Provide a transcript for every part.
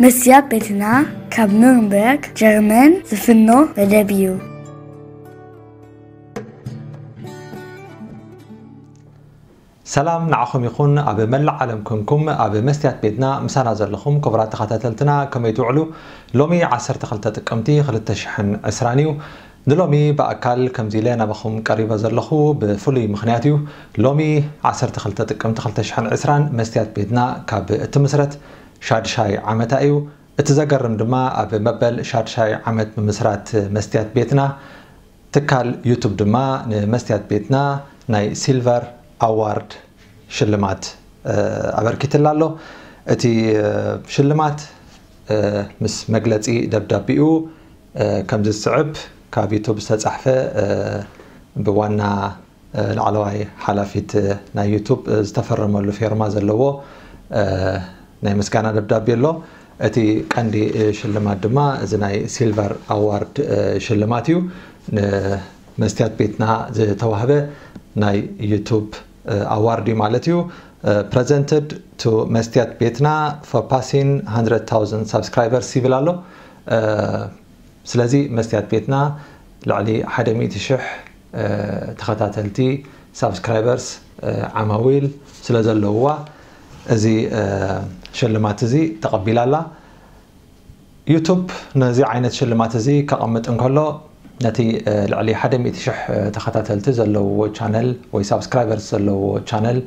መስያብ ቤትና ካብ ኑርንበርግ ጀርመን ዝፍኖ መደብ እዩ። ሰላም ንዓኹም ይኹን። ኣብ መላእ ዓለም ኮንኩም ኣብ መስትያት ቤትና ምሳና ዘለኹም ክቡራት ተኸታተልትና ከመይ ትውዕሉ? ሎሚ ዓሰርተ ክልተ ጥቅምቲ ክልተ ሽሕን ዕስራን እዩ። ንሎሚ ብኣካል ከምዚ ኢለ ናባኹም ቀሪበ ዘለኹ ብፍሉይ ምኽንያት እዩ። ሎሚ ዓሰርተ ክልተ ጥቅምቲ ክልተ ሽሕን ዕስራን መስትያት ቤትና ካብ እትምስረት ሻድሻይ ዓመታ እዩ። እቲ ዘገርም ድማ ኣብ መበል ሻድሻይ ዓመት ምምስራት መስትያት ቤትና ትካል ዩቱብ ድማ ንመስትያት ቤትና ናይ ሲልቨር ኣዋርድ ሽልማት ኣበርኪትላ ኣሎ። እቲ ሽልማት ምስ መግለፂ ደብዳቤኡ ከምዚ ዝስዕብ ካብ ዩቱብ ዝተፃሕፈ ብዋና ላዕለዋይ ሓላፊት ናይ ዩቱብ ዝተፈረመሉ ፌርማ ዘለዎ ናይ ምስጋና ደብዳቤ ኣሎ። እቲ ቀንዲ ሽልማት ድማ እዚ ናይ ሲልቨር ኣዋርድ ሽልማት እዩ። ንመስትያት ቤትና ዝተዋህበ ናይ ዩቱብ ኣዋርድ እዩ ማለት እዩ። Presented to መስትያት ቤትና for passing hundred thousand subscribers ይብል ኣሎ። ስለዚ መስትያት ቤትና ልዕሊ ሓደ ሚእቲ ሽሕ ተኸታተልቲ ሳብስክራይበርስ ዓማዊል ስለ ዘለውዋ እዚ ሽልማት እዚ ተቐቢላ ኣላ። ዩቱብ ነዚ ዓይነት ሽልማት እዚ ከቐምጥ እንከሎ ነቲ ልዕሊ ሓደ ሚእቲ ሽሕ ተኸታተልቲ ዘለዎ ቻነል ወይ ሳብስክራይበርስ ዘለዎ ቻነል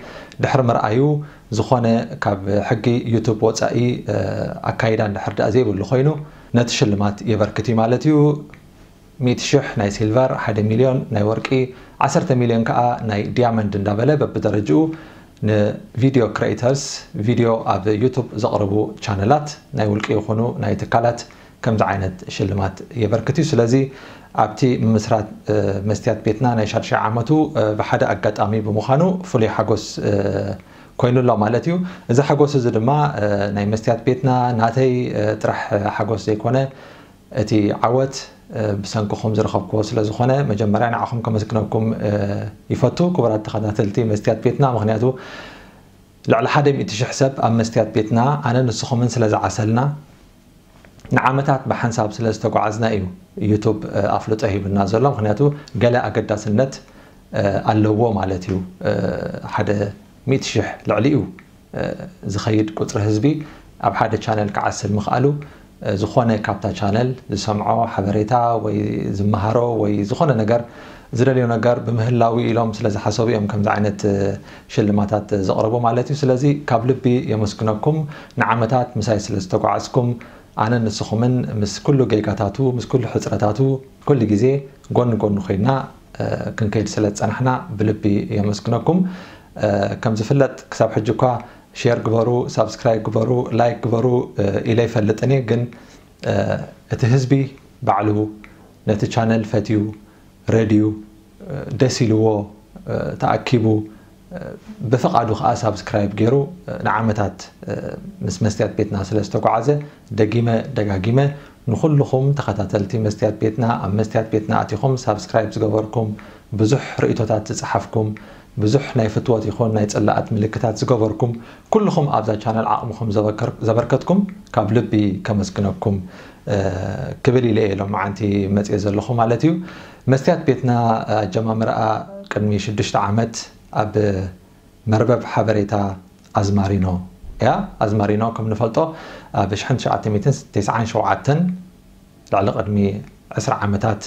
ድሕሪ ምርኣዩ ዝኾነ ካብ ሕጊ ዩቱብ ወፃኢ ኣካይዳ እንድሕር ደኣ ዘይብሉ ኮይኑ ነቲ ሽልማት የበርክት እዩ ማለት እዩ። ሚእቲ ሽሕ ናይ ሲልቨር፣ ሓደ ሚልዮን ናይ ወርቂ፣ ዓሰርተ ሚልዮን ከዓ ናይ ዲያመንድ እንዳበለ በብደረጅኡ ንቪድዮ ክሬተርስ ቪድዮ ኣብ ዩቱብ ዘቕርቡ ቻነላት ናይ ውልቂ ይኹኑ ናይ ትካላት ከምዚ ዓይነት ሽልማት የበርክት እዩ። ስለዚ ኣብቲ ምምስራት መስትያት ቤትና ናይ ሻድሻይ ዓመቱ ብሓደ ኣጋጣሚ ብምዃኑ ፍሉይ ሓጎስ ኮይኑ ኣሎ ማለት እዩ። እዚ ሓጎስ እዚ ድማ ናይ መስትያት ቤትና ናተይ ጥራሕ ሓጎስ ዘይኮነ እቲ ዓወት ብሰንክኹም ዝረኸብክዎ ስለ ዝኾነ መጀመርያ ንዓኹም ከመስግነኩም ይፈቱ ክቡራት ተኸታተልቲ መስትያት ቤትና። ምኽንያቱ ልዕሊ ሓደ ሚእቲ ሽሕ ሰብ ኣብ መስትያት ቤትና ኣነ ንስኹምን ስለ ዝዓሰልና ንዓመታት ብሓንሳብ ስለ ዝተጓዓዝና እዩ ዩቱብ ኣፍልጦ ሂብና ዘሎ። ምኽንያቱ ገለ ኣገዳስነት ኣለዎ ማለት እዩ። ሓደ ሚእቲ ሽሕ ልዕሊኡ ዝኸይድ ቁፅሪ ህዝቢ ኣብ ሓደ ቻነል ክዓስል ምኽኣሉ ዝኾነ ካብታ ቻነል ዝሰምዖ ሓበሬታ ወይ ዝመሃሮ ወይ ዝኾነ ነገር ዝደልዮ ነገር ብምህላዊ ኢሎም ስለ ዝሓሰቡ እዮም ከምዚ ዓይነት ሽልማታት ዘቕረቡ ማለት እዩ። ስለዚ ካብ ልቢ የመስግነኩም። ንዓመታት ምሳይ ስለ ዝተጓዓዝኩም ኣነ ንስኹምን ምስ ኩሉ ጌጋታቱ ምስ ኩሉ ሕፅረታቱ ኩሉ ግዜ ጎኒ ጎኒ ኮይና ክንከይድ ስለ ዝፀናሕና ብልቢ የመስግነኩም። ከም ዝፍለጥ ክሳብ ሕጂ እኳ ሼር ግበሩ፣ ሳብስክራይብ ግበሩ፣ ላይክ ግበሩ ኢለ ይፈልጥን እየ። ግን እቲ ህዝቢ ባዕሉ ነቲ ቻነል ፈትዩ ረድዩ ደስ ኢልዎ ተኣኪቡ ብፍቓዱ ከዓ ሳብስክራይብ ገይሩ ንዓመታት ምስ መስትያት ቤትና ስለ ዝተጓዓዘ ደጊመ ደጋጊመ ንኹልኹም ተኸታተልቲ መስትያት ቤትና ኣብ መስትያት ቤትና ኣቲኹም ሳብስክራይብ ዝገበርኩም ብዙሕ ርእይቶታት ዝፀሓፍኩም ብዙሕ ናይ ፍትወት ይኹን ናይ ፅላኣት ምልክታት ዝገበርኩም ኩልኹም ኣብዛ ቻነል ዓቕምኹም ዘበርከር- ዘበርከትኩም ካብ ልቢ ከመስግነኩም ክብል ኢለ እየ ሎማዓንቲ መፅየ ዘለኹ ማለት እዩ። መስትያት ቤትና ኣጀማምርኣ ቅድሚ ሽዱሽተ ዓመት ኣብ መርበብ ሓበሬታ ኣዝማሪኖ እያ። ኣዝማሪኖ ከም ንፈልጦ ኣብ ሽሕን ትሽዓተ ሚእትን ተስዓን ሸውዓተን ልዕሊ ቅድሚ ዕስራ ዓመታት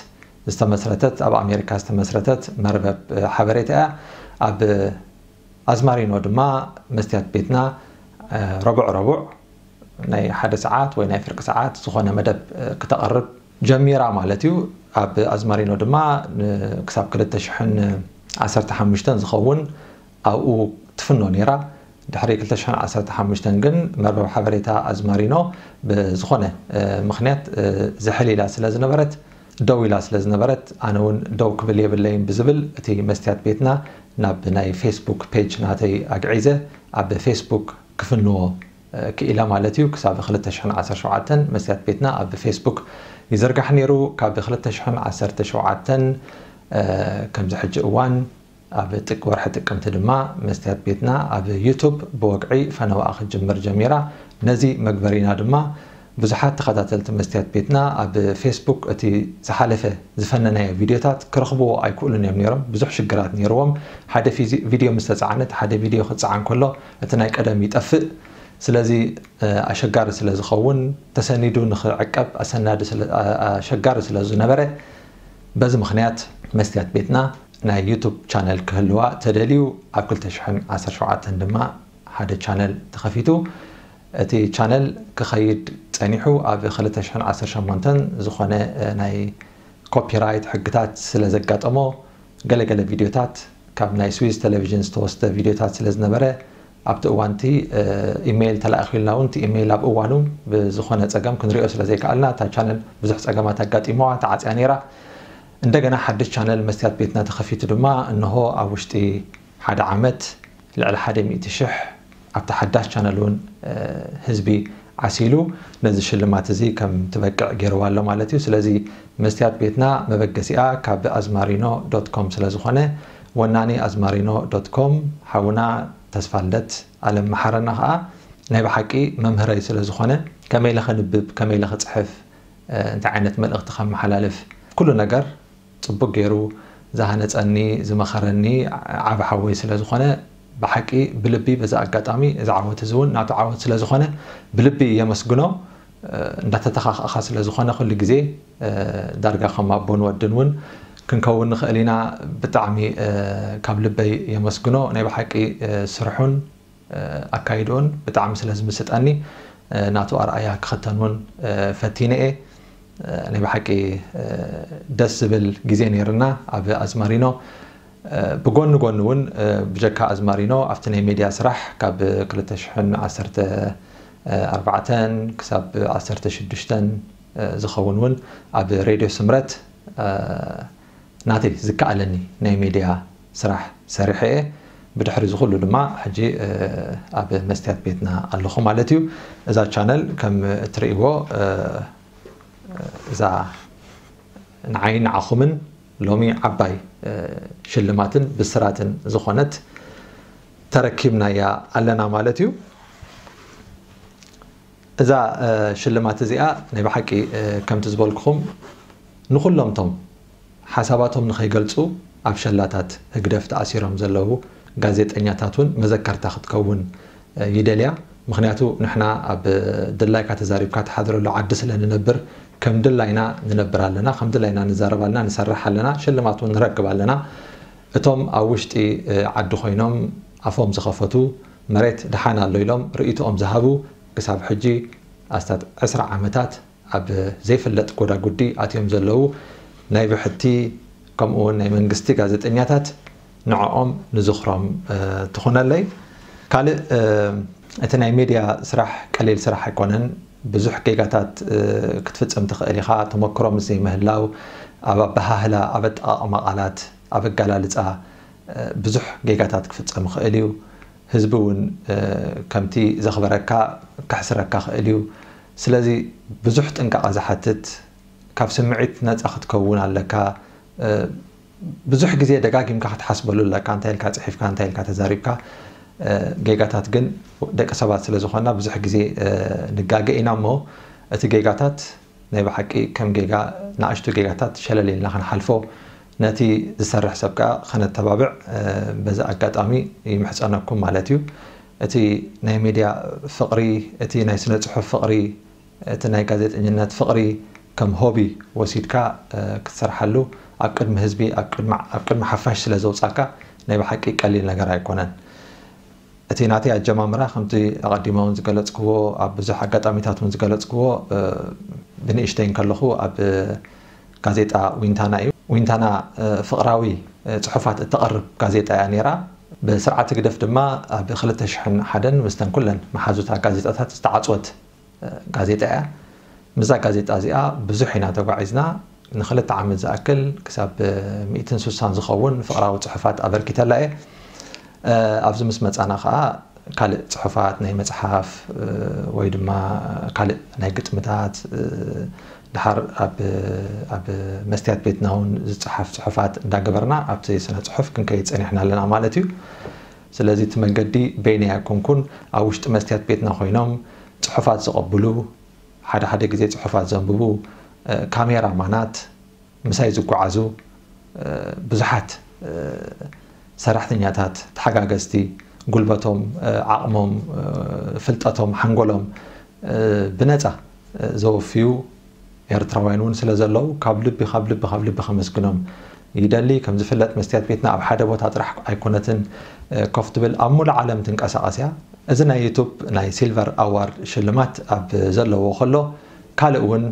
ዝተመስረተት ኣብ ኣሜሪካ ዝተመስረተት መርበብ ሓበሬታ እያ። ኣብ ኣዝማሪኖ ድማ መስትያት ቤትና ረቡዕ ረቡዕ ናይ ሓደ ሰዓት ወይ ናይ ፍርቂ ሰዓት ዝኾነ መደብ ክተቕርብ ጀሚራ ማለት እዩ። ኣብ ኣዝማሪኖ ድማ ክሳብ ክልተ ሽሕን ዓሰርተ ሓሙሽተን ዝኸውን ኣብኡ ትፍኖ ነይራ። ድሕሪ ክልተ ሽሕን ዓሰርተ ሓሙሽተን ግን መርበብ ሓበሬታ ኣዝማሪኖ ብዝኾነ ምኽንያት ዝሕል ኢላ ስለ ዝነበረት ደው ኢላ ስለ ዝነበረት ኣነ እውን ደው ክብል የብለይን ብዝብል እቲ መስትያት ቤትና ናብ ናይ ፌስቡክ ፔጅ ናተይ ኣግዒዘ ኣብ ፌስቡክ ክፍንዎ ክኢለ ማለት እዩ። ክሳብ ክልተ ሽሕን ዓሰርተ ሸውዓተን መስትያት ቤትና ኣብ ፌስቡክ ይዝርጋሕ ነይሩ። ካብ ክልተ ሽሕን ዓሰርተ ሸውዓተን ከምዚ ሕጂ እዋን ኣብ ጥቂ ወርሒ ጥቅምቲ ድማ መስትያት ቤትና ኣብ ዩቱብ ብወግዒ ፈነዋኣ ክትጅምር ጀሚራ። ነዚ መግበሪና ድማ ብዙሓት ተኸታተልቲ መስትያት ቤትና ኣብ ፌስቡክ እቲ ዝሓለፈ ዝፈነናዮ ቪድዮታት ክረኽብዎ ኣይክእሉን እዮም ነይሮም። ብዙሕ ሽግራት ነይርዎም። ሓደ ፊዚ- ቪድዮ ምስ ተጻዕነት፣ ሓደ ቪድዮ ክጸዓን ከሎ እቲ ናይ ቀደም ይጠፍእ። ስለዚ እ፣ ኣሸጋሪ ስለ ዝኸውን፣ ተሰኒዱ ንኽዕቀብ ኣሰናዲ ስለ- ኣ- ኣሸጋሪ ስለ ዝነበረ፣ በዚ ምኽንያት መስትያት ቤትና ናይ ዩቱብ ቻነል ክህልዋ ተደልዩ፣ ኣብ ክልተ ሽሕን ዓሰርተ ሸውዓተን ድማ ሓደ ቻነል ተኸፊቱ። እቲ ቻነል ክኸይድ ጸኒሑ፣ ኣብ ክልተ ሽሕን ዓሰርተ ሸሞንተን ዝኾነ እ፣ ናይ ኮፒራይት ሕግታት ስለ ዘጋጠሞ፣ ገለገለ ቪድዮታት ካብ ናይ ስዊዝ ቴሌቪዥን ዝተወስደ ቪድዮታት ስለ ዝነበረ፣ ኣብቲ እዋንቲ እ፣ ኢሜይል ተላኢኹልና እውን፣ እቲ ኢሜይል ኣብ እዋኑ ብዝኾነ ጸገም ክንሪኦ ስለ ዘይከኣልና፣ እታ ቻነል ብዙሕ ጸገማት ኣጋጢሞዋ ተዓጽያ ነይራ። እንደገና ሓድሽ ቻነል መስትያት ቤትና ተኸፊቱ ድማ፣ እንሆ ኣብ ውሽጢ ሓደ ዓመት ልዕሊ ሓደ ሚእቲ ሽሕ ኣብቲ ሓዳሽ ቻነል እውን እ፣ ህዝቢ ዓሲሉ ነዚ ሽልማት እዚ ከም ትበቅዕ ገይርዋ ኣሎ ማለት እዩ። ስለዚ መስትያት ቤትና መበገሲኣ ካብ ኣዝማሪኖ ዶት ኮም ስለ ዝኾነ፣ ወናኒ ኣዝማሪኖ ዶት ኮም ሓውና ተስፋልደት ኣለም መሓረና ኸኣ ናይ ብሓቂ መምህረይ ስለ ዝኾነ፣ ከመይ ኢለ ከንብብ፣ ከመይ ኢለ ክጽሕፍ፣ እ፣ እንታይ ዓይነት መልእኽቲ ከመሓላልፍ፣ ኩሉ ነገር ጽቡቅ ገይሩ ዝሃነጸኒ፣ ዝመኸረኒ ዓቢ ሓወይ ስለ ዝኾነ፣ ብሓቂ ብልቢ በዚ ኣጋጣሚ እዚ ዓወት እዚ እውን ናቱ ዓወት ስለ ዝኾነ ብልቢ የመስግኖ። እ፣ እንዳተተኻኸእኻ ስለ ዝኾነ ኩሉ ግዜ እ፣ ዳርጋ ከም ኣቦን ወድን እውን ክንከውን ንኽእል ኢና። ብጣዕሚ እ፣ ካብ ልበይ የመስግኖ። ናይ ብሓቂ እ፣ ስርሑን እ፣ ኣካይድኡን ብጣዕሚ ስለ ዝምስጠኒ እ፣ ናቱ ኣርኣያ ክኽተን እውን እ፣ ፈቲነ እየ። እ፣ ናይ ብሓቂ እ፣ ደስ ዝብል ግዜ ነይርና ኣብ ኣዝማሪኖ። እ፣ ብጎኒ ጎኒ እውን እ፣ ብጀካ ኣዝማሪኖ ኣብቲ ናይ ሜድያ ስራሕ ካብ ክልተ ሽሕን ዓሰርተ ኣርባዕተን ክሳብ ዓሰርተ ሽዱሽተን እ፣ ዝኸውን እውን ኣብ ሬድዮ ስምረት እ፣ ናተይ ዝከኣለኒ ናይ ሜድያ ስራሕ ሰሪሐ እየ። ብድሕሪ እዚ ኩሉ ድማ ሕጂ እ፣ ኣብ መስትያት ቤትና ኣለኹ ማለት እዩ። እዛ ቻነል ከም እትርእይዎ እ፣ እዛ ንዓይን ንዓኹምን ሎሚ ዓባይ እ፣ ሽልማትን ብስራትን ዝኾነት ተረኪብናያ ኣለና ማለት እዩ። እዛ እ፣ ሽልማት እዚኣ ናይ ብሓቂ እ፣ ከምቲ ዝበልኩኹም ንኹሎም ቶም ሓሳባቶም ንኸይገልጹ ኣብ ሸላታት ህግደፍ ተኣሲሮም ዘለዉ ጋዜጠኛታት እውን መዘከርታ ክትከውን እ፣ ይደልያ። ምኽንያቱ ንሕና ኣብ ድላይካ ተዛሪብካ ትሓድረሉ ዓዲ ስለ ንነብር፣ ከም ድላይና ንነብር ኣለና፣ ከም ድላይና ንዛረብ ኣለና፣ ንሰርሕ ኣለና፣ ሽልማት እውን ንረክብ ኣለና። እቶም ኣብ ውሽጢ እ፣ ዓዲ ኮይኖም ኣፎም ዝኸፈቱ፣ መሬት ደሓን ኣሎ ኢሎም ርእይቶኦም ዝሃቡ፣ ክሳብ ሕጂ ኣስታት ዕስራ ዓመታት ኣብ ዘይፍለጥ ጎዳጉዲ ኣትዮም ዘለዉ ናይ ብሕቲ ከምኡ እውን ናይ መንግስቲ ጋዜጠኛታት ንዕኦም ንዝኽሮም እ፣ ትኹነለይ። ካልእ እ፣ እቲ ናይ ሜድያ ስራሕ ቀሊል ስራሕ ኣይኮነን። ብዙሕ ጌጋታት እ፣ ክትፍጽም ትኽእል ኢኻ። ተመክሮ ምስ ዘይምህላው ኣብ ኣበሃህላ፣ ኣብ ኣጠቓቕማ ቃላት፣ ኣብ ኣገላልጻ እ፣ ብዙሕ ጌጋታት ክፍጸም ይኽእል እዩ። ህዝቢ እውን እ፣ ከምቲ ዘኽበረካ ከሕስረካ ይኽእል እዩ። ስለዚ ብዙሕ ጥንቃቐ ዝሓትት፣ ካብ ስምዒት ነጻ ክትከውን ኣለካ። እ፣ ብዙሕ ግዜ ደጋጊምካ ክትሓስበሉ ኣለካ። እንታይ ኢልካ ጽሒፍካ፣ እንታይ ኢልካ ተዛሪብካ። እ፣ ጌጋታት ግን ደቂ ሰባት ስለ ዝኾንና ብዙሕ ግዜ እ፣ ንጋገ ኢና እሞ፣ እቲ ጌጋታት ናይ ብሓቂ ከም ጌጋ፣ ንኣሽቱ ጌጋታት ሸለል ኢልና ክንሓልፎ፣ ነቲ ዝሰርሕ ሰብ ከኣ ከነተባብዕ እ፣ በዚ ኣጋጣሚ ይምሕጸነኩም ማለት እዩ። እቲ ናይ ሜድያ ፍቕሪ፣ እቲ ናይ ስነ ጽሑፍ ፍቕሪ፣ እቲ ናይ ጋዜጠኝነት ፍቕሪ ከም ሆቢ ወሲድካ እ፣ ክትሰርሓሉ ኣብ ቅድሚ ህዝቢ፣ ኣብ ቅድሚ ኣብ ቅድሚ ሓፋሽ ስለ ዘውጻካ ናይ ብሓቂ ቀሊል ነገር ኣይኮነን። እቲ ናተይ ኣጀማምራ ከምቲ ኣቐዲመ እውን ዝገለጽክዎ፣ ኣብ ብዙሕ ኣጋጣሚታት እውን ዝገለጽክዎ እ፣ ብንእሽተይ እንከለኹ ኣብ ጋዜጣ ዊንታና እዩ። ዊንታና እ፣ ፍቕራዊ እ፣ ጽሑፋት እተቕርብ ጋዜጣ እያ ነይራ። ብስርዓት ህግደፍ ድማ ኣብ ክልተ ሽሕን ሓደን ምስተን ኩለን መሓዙታ ጋዜጣታት ዝተዓጽወት ጋዜጣ እያ። ምስዛ ጋዜጣ እዚኣ ብዙሕ ኢና ተጓዒዝና። ንክልተ ዓመት ዝኣክል ክሳብ ሚእትን ስሳን ዝኸውን ፍቕራዊ ጽሑፋት ኣበርኪተላ እየ። እ፣ ኣብዚ ምስ መጻና ከኣ ካልእ ጽሑፋት ናይ መጽሓፍ እ፣ ወይ ድማ ካልእ ናይ ግጥምታት እ፣ ድሓር ኣብ ኣብ መስትያት ቤትና እውን ዝጸሓፍ ጽሑፋት እንዳገበርና ኣብቲ ስነ ጽሑፍ ክንከይድ ጸኒሕና ኣለና ማለት እዩ። ስለዚ እቲ መንገዲ በይነይ ኣይኮንኩን። ኣብ ውሽጢ መስትያት ቤትና ኮይኖም ጽሑፋት ዝቐብሉ፣ ሓደ ሓደ ግዜ ጽሑፋት ዘንብቡ ካሜራማናት፣ ምሳይ ዝጓዓዙ ብዙሓት ሰራሕተኛታት፣ ተሓጋገዝቲ፣ ጉልበቶም፣ ዓቕሞም፣ ፍልጠቶም፣ ሓንጎሎም ብነፃ ዘወፍዩ ኤርትራውያን እውን ስለ ዘለዉ፣ ካብ ልቢ ካብ ልቢ ካብ ልቢ ከመስግኖም ይደሊ። ከም ዝፍለጥ፣ መስትያት ቤትና ኣብ ሓደ ቦታ ጥራሕ ኣይኮነትን ኮፍ ትብል፣ ኣብ ሙሉእ ዓለም ትንቀሳቐስ እያ። እዚ ናይ ዩቱብ ናይ ሲልቨር ኣዋርድ ሽልማት ኣብ ዘለዎ ከሎ፣ ካልእ እውን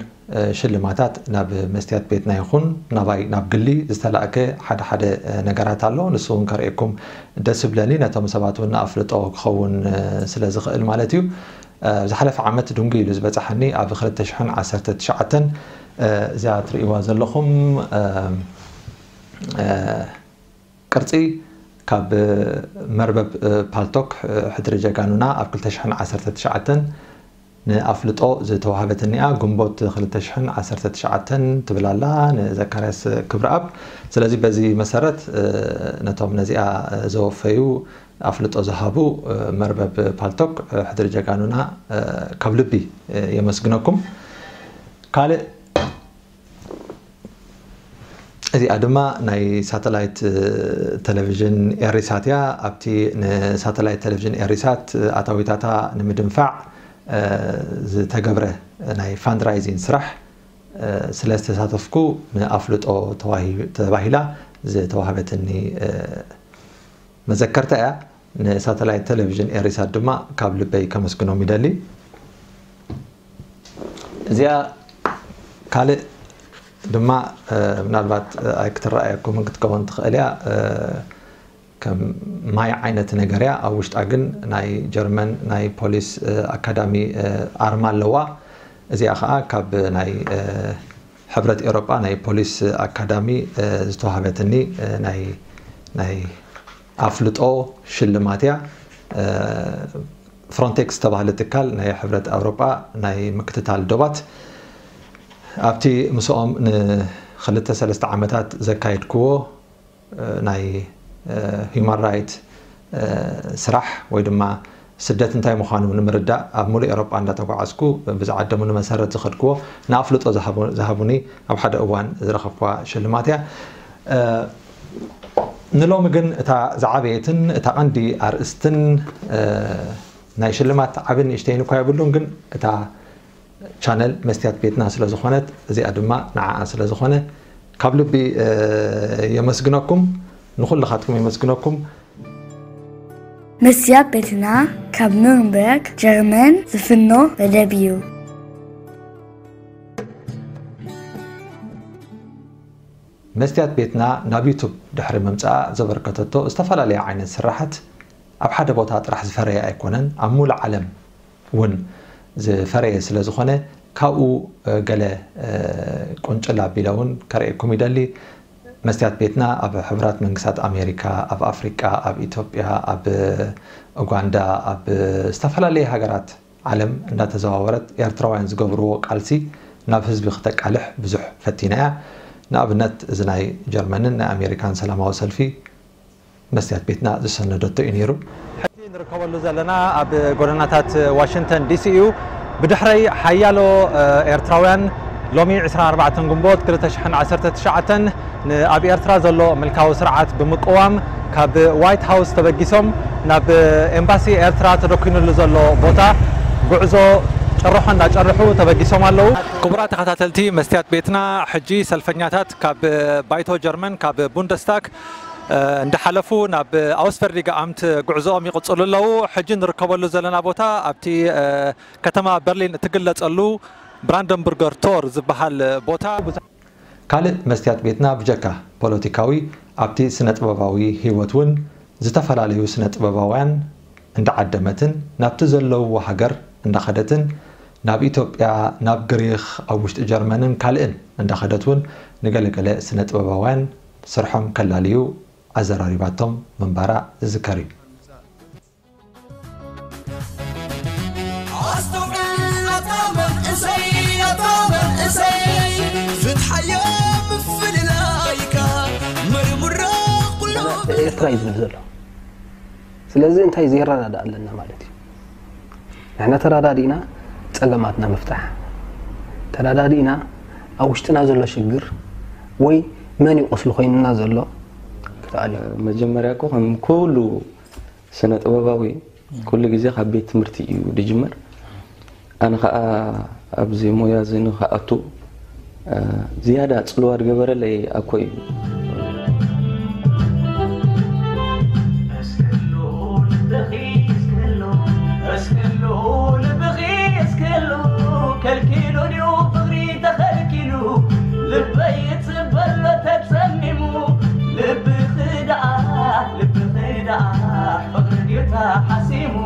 ሽልማታት ናብ መስትያት ቤትና ይኹን ናባይ ናብ ግሊ ዝተላእከ ሓደ ሓደ ነገራት ኣሎ። ንሱ እውን ከርእየኩም ደስ ይብለኒ፣ ነቶም ሰባት እውን ንኣፍልጦ ክኸውን ስለ ዝኽእል ማለት እዩ። ዝሓለፈ ዓመት ድንጉ ኢሉ ዝበጻሓኒ ኣብ ክልተ ሽሕን ዓሰርተ ትሽዓተን፣ እዚኣ ትርእይዋ ዘለኹም ቅርጺ ካብ መርበብ ፓልቶክ ሕድሪ ጀጋኑና ኣብ ክልተ ሽሕን ዓሰርተ ትሽዓተን ንኣፍልጦ ዝተዋህበትኒ እያ። ግንቦት ክልተ ሽሕን ዓሰርተ ትሽዓተን ትብል ኣላ፣ ንዘካርያስ ክብረኣብ። ስለዚ በዚ መሰረት ነቶም ነዚኣ ዘወፈዩ፣ ኣፍልጦ ዝሃቡ መርበብ ፓልቶክ ሕድሪ ጀጋኑና ካብ ልቢ የመስግነኩም። ካልእ እዚኣ ድማ ናይ ሳተላይት ቴሌቪዥን ኤሪሳት እያ። ኣብቲ ንሳተላይት ቴሌቪዥን ኤሪሳት ኣታዊታታ ንምድንፋዕ ዝተገብረ ናይ ፋንድራይዚንግ ስራሕ ስለ ዝተሳተፍኩ ንኣፍልጦ ተባሂላ ዝተዋህበትኒ መዘከርታ እያ። ንሳተላይት ቴሌቪዥን ኤሪሳት ድማ ካብ ልበይ ከመስግኖም ይደሊ። እዚኣ ካልእ ድማ ምናልባት ኣይክትረኣየኩምን ክትከውን ትኽእል እያ። ከም ማይ ዓይነት ነገር እያ። ኣብ ውሽጣ ግን ናይ ጀርመን ናይ ፖሊስ ኣካዳሚ ኣርማ ኣለዋ። እዚኣ ከዓ ካብ ናይ ሕብረት ኤውሮጳ ናይ ፖሊስ ኣካዳሚ ዝተዋህበትኒ ናይ ኣፍልጦ ሽልማት እያ። ፍሮንቴክስ ዝተባህለ ትካል ናይ ሕብረት ኣውሮጳ ናይ ምክትታል ዶባት ኣብቲ ምስኦም ንክልተ ሰለስተ ዓመታት ዘካየድክዎ ናይ ሂማን ራይት ስራሕ ወይ ድማ ስደት እንታይ ምዃኑ ንምርዳእ ኣብ ሙሉእ ኤውሮጳ እንዳተጓዓዝኩ ብዝዓደሙኒ መሰረት ዝኸድክዎ ንኣፍልጦ ዝሃቡኒ ኣብ ሓደ እዋን ዝረኸብክዋ ሽልማት እያ። ንሎሚ ግን እታ ዝዓበየትን እታ ቀንዲ ኣርእስትን ናይ ሽልማት ዓብን ንእሽተይን እኳ የብሉን፣ ግን እታ ቻነል መስትያት ቤትና ስለ ዝኾነት፣ እዚኣ ድማ ንዓኣ ስለ ዝኾነ ካብ ልቢ የመስግነኩም። ንኹልኻትኩም የመስግነኩም። መስትያት ቤትና ካብ ኑርንበርግ ጀርመን ዝፍኖ መደብ እዩ። መስትያት ቤትና ናብ ዩቱብ ድሕሪ ምምጻኣ ዘበርከተቶ ዝተፈላለያ ዓይነት ስራሓት ኣብ ሓደ ቦታ ጥራሕ ዝፈረየ ኣይኮነን፣ ኣብ ሙሉእ ዓለም እውን ዝፈረየ ስለ ዝኾነ ካብኡ ገለ ቁንጭል ኣቢለ እውን ከርእየኩም ይደሊ። መስትያት ቤትና ኣብ ሕቡራት መንግስታት ኣሜሪካ፣ ኣብ ኣፍሪቃ፣ ኣብ ኢትዮጵያ፣ ኣብ ኡጋንዳ፣ ኣብ ዝተፈላለየ ሃገራት ዓለም እንዳተዘዋወረት ኤርትራውያን ዝገብርዎ ቃልሲ ናብ ህዝቢ ክተቃልሕ ብዙሕ ፈቲና እያ። ንኣብነት እዚ ናይ ጀርመንን ናይ ኣሜሪካን ሰላማዊ ሰልፊ መስትያት ቤትና ዝሰነደቶ እዩ ነይሩ። ሕጂ ንርከበሉ ዘለና ኣብ ጎደናታት ዋሽንግተን ዲሲ እዩ። ብድሕረይ ሓያሎ ኤርትራውያን ሎሚ ዕስራን ኣርባዕተን ግንቦት ክልተ ሽሕን ዓሰርተ ትሽዓተን ንኣብ ኤርትራ ዘሎ ምልካዊ ስርዓት ብምቅዋም ካብ ዋይት ሃውስ ተበጊሶም ናብ ኤምባሲ ኤርትራ ተደኪኑሉ ዘሎ ቦታ ጉዕዞ ጭርሖ እንዳጨርሑ ተበጊሶም ኣለዉ። ክቡራት ተኸታተልቲ መስትያት ቤትና፣ ሕጂ ሰልፈኛታት ካብ ባይቶ ጀርመን ካብ ቡንደስታግ እንዳሓለፉ ናብ ኣውስፈርዲገ ኣምት ጉዕዞኦም ይቕጽሉ ኣለዉ። ሕጂ ንርከበሉ ዘለና ቦታ ኣብቲ ከተማ በርሊን እትግለጸሉ ብራንደንቡርገር ቶር ዝበሃል ቦታ። ካልእ መስትያት ቤትና ብጀካ ፖለቲካዊ ኣብቲ ስነ ጥበባዊ ህይወት እውን ዝተፈላለዩ ስነ ጥበባውያን እንዳዓደመትን ናብቲ ዘለውዎ ሃገር እንዳኸደትን ናብ ኢትዮጵያ፣ ናብ ግሪኽ፣ ኣብ ውሽጢ ጀርመንን ካልእን እንዳኸደት እውን ንገለገለ ስነ ጥበባውያን ስርሖም ከላልዩ ኣዘራሪባቶም ምንባራ ዝዝከር እዩ። ኣስተውዕል ኣታ መንእሰይ ኣታ መንእሰይ ፍትሓዮ ምፍልላይካ መርምሮ ኩሉ ኤርትራ እዩ ዝብል ዘሎ። ስለዚ እንታይ ዘይረዳዳእ ኣለና ማለት እዩ። ንሕና ተረዳዲእና ጸገማትና ምፍታሕ ተረዳዲእና ኣብ ውሽጥና ዘሎ ሽግር ወይ መን እዩ ቁስሊ ኮይንና ዘሎ ክትኣል እዩ። መጀመርያ እኮ ከም ኩሉ ስነ ጥበባዊ ኩሉ ግዜ ካብ ቤት ትምህርቲ እዩ ዝጅመር። ኣነ ከዓ ኣብዚ ሞያ እዚ ንክኣቱ ዝያዳ ፅልዋ ዝገበረለይ ኣኮ እዩ። እስክሉ ልብኺ እስክሉ፣ እስክሉ ልብኺ እስክሉ፣ ከልኪሉ ድዩ ፍቕሪ ተኸልኪሉ? ልበይ ይጽበሎ ተጸሚሙ፣ ልብኺ ደኣ፣ ልብኺ ደኣ፣ ፍቕሪ ድዩ ተሓሲሙ?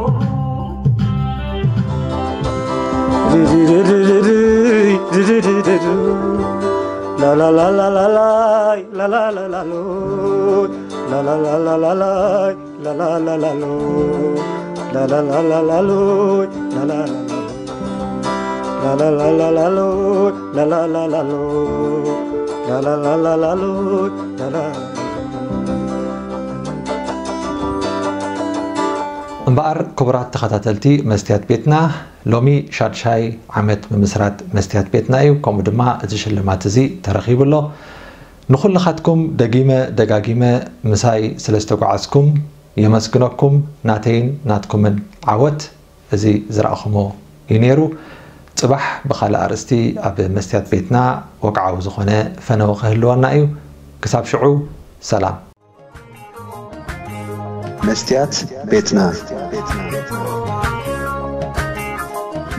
እምበኣር ክቡራት ተኸታተልቲ መስትያት ቤትና፣ ሎሚ ሻድሻይ ዓመት ምምስራት መስትያት ቤትና እዩ። ከምኡ ድማ እዚ ሽልማት እዚ ተረኺቡ ኣሎ። ንኹልኻትኩም ደጊመ ደጋጊመ ምሳይ ስለ ዝተጓዓዝኩም የመስግነኩም። ናተይን ናትኩምን ዓወት እዚ ዝረኣኹሞ እዩ ነይሩ። ጽባሕ ብኻልእ ኣርእስቲ ኣብ መስትያት ቤትና ወግዓዊ ዝኾነ ፈነወ ክህልወና እዩ። ክሳብ ሽዑ ሰላም። መስትያት ቤትና።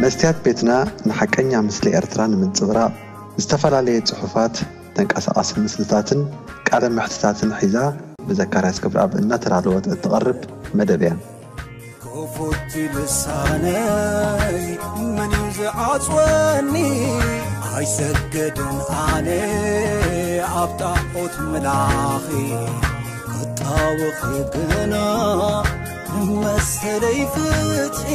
መስትያት ቤትና ንሓቀኛ ምስሊ ኤርትራ ንምንጽብራቕ ዝተፈላለየ ጽሑፋት፣ ተንቀሳቓሲ ምስልታትን ቃለ መሕትታትን ሒዛ ብዘካርያስ ገብረኣብ እናተዳለወት እትቐርብ መደብ እያ። ክፉት ልሳነይ መን እዩ ዝዓጽወኒ? ኣይሰግድን ኣነ ኣብ ጣዖት ምላኺ ክጣወኺ ግና መሰለይ ፍትሒ